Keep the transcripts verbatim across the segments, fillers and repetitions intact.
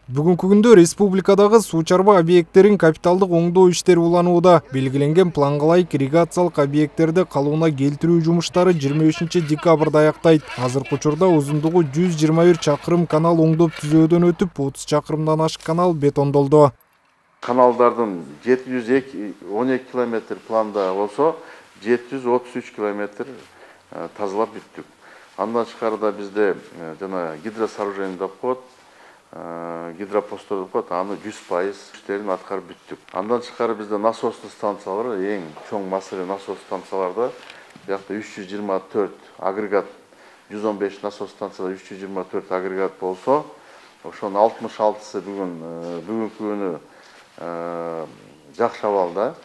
Бүгүнкү күндө республикадагы суу чарба объекттерин капиталдык оңдоо иштери уланууда. Белгиленген планга ылайык ирригациялык объекттерди калыбына келтирүү жумуштары жыйырма бешинчи декабрда аяктайт. Азыркы учурда узундугу жүз жыйырма бир чакырым канал оңдоп түзөөдөн өтүп, отуз чакырымдан ашык канал бетондолду. Каналдардын жети жүз он эки километр планда болсо, жети жүз отуз үч километр тазалап бүттүк. Андан тышкары да бизде жана гидросооружение деп коет, гидропосттор деп коет, аны жүз пайыз иштерин аткарып бүттүк. Андан тышкары бизде насостуу станциялар, эң чоң массивий насос станцияларда биякта үч жүз жыйырма төрт агрегат, жүз он беш насос станцияда үч жүз жыйырма төрт агрегат болсо, ошонун алтымыш алтысы бүгүн бүгүнкү күнү жакшы абалда.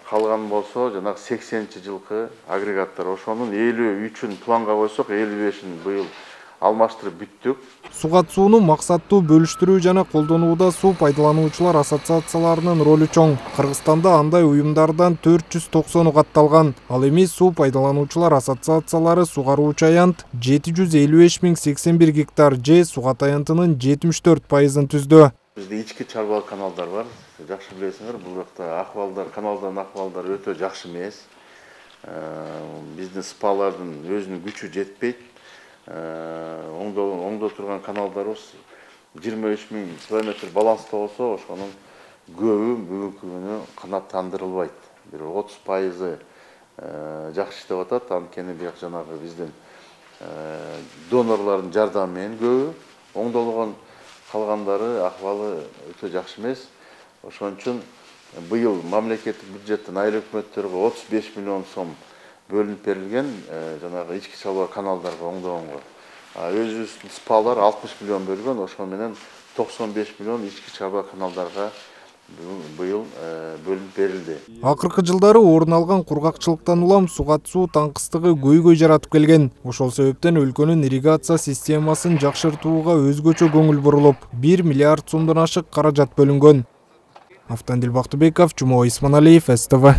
Калган болсо жанагы сексенинчи жылкы агрегаттар, ошонун элүү үчүн планга койсок, элүү бешин быйыл алмаштырып бүттүк. Сугат сууну максаттуу бөлүштүрүү жана колдонууда суу пайдалануучулар ассоциацияларынын ролу чоң. Кыргызстанда андай уюмдардан төрт жүз токсону катталган. Ал эми суу пайдалануучулар ассоциациялары сугаруучу аянт жети жүз элүү беш миң сексен бир гектар же сугат аянтынын жетимиш төрт пайызын түздү. Бизде ички чарбалык каналдар бар. Жакшы билесиңер, бул жакта акыбалдар, каналдардын акыбалдары өтө жакшы эмес. Биздин спалардын өзүнүн күчү жетпейт. Оңдо турган каналдарыбыз жыйырма үч миң километр баланста болсо, ошонун көбү бүгүнкү күнү канааттандырылбайт. Бир отуз пайызы жакшы иштеп атат. Анткени бияк жанагы биздин донорлордун жардамы менен көбү оңдолгон, калгандары акыбалы өтө жакшы эмес. Ошон үчүн быйыл мамлекеттик бюджеттен айыл өкмөттөргө отуз беш миллион сом бөлүнүп берилген, жанагы ички чарба каналдарга оңдогонго. Өзүбүздүн спалар алтымыш миллион бөлгөн, ошол менен токсон беш миллион ички чарба каналдарга быйыл бөлүнүп берилди. Акыркы жылдары орун алган кургакчылыктан улам сугат суу таңкыстыгы көйгөй жаратып келген. Ошол себептен өлкөнүн ирригация системасын жакшыртууга өзгөчө көңүл бурулуп, бир миллиард сомдон ашык каражат бөлүнгөн. Автандил Бактыбеков, Жумабек Исманалиев, С Т В.